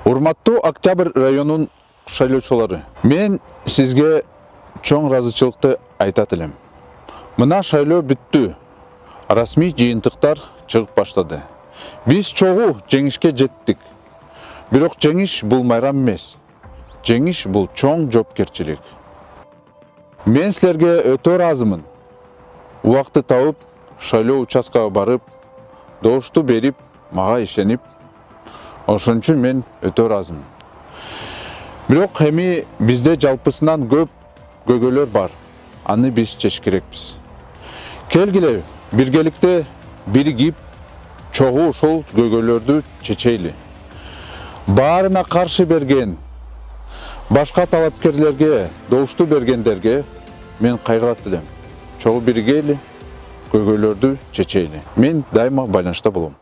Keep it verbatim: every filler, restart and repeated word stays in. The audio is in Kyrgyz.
Урматтуу Октябрь районунун шайлоочулары, мен сизге чоң ыраазычылыкты айтат элем. Мына шайлоо бүттү. Расмий жыйынтыктар чыгып баштады. Биз чогуу жеңишке жеттик. Бирок жеңиш бул майрам эмес. Жеңиш бул чоң жоопкерчилик. Мен силерге өтө ыраазымын. Убакты табып, шайлоо участкага барып, добушту берип, мага ишенип, ошон үчүн мен өтө ыраазымын. Бирок эми бизде жалпысынан көп көйгөйлөр бар. Аны биз чечиш керекпиз. Келгиле, биргеликте биригип, чогуу ошол көйгөйлөрдү чечейли. Баарына каршы берген, башка талапкерлерге добушту бергендерге мен кайрылат элем. Чогуу биригели, көйгөйлөрдү чечейли. Мен дайыма байланышта болом.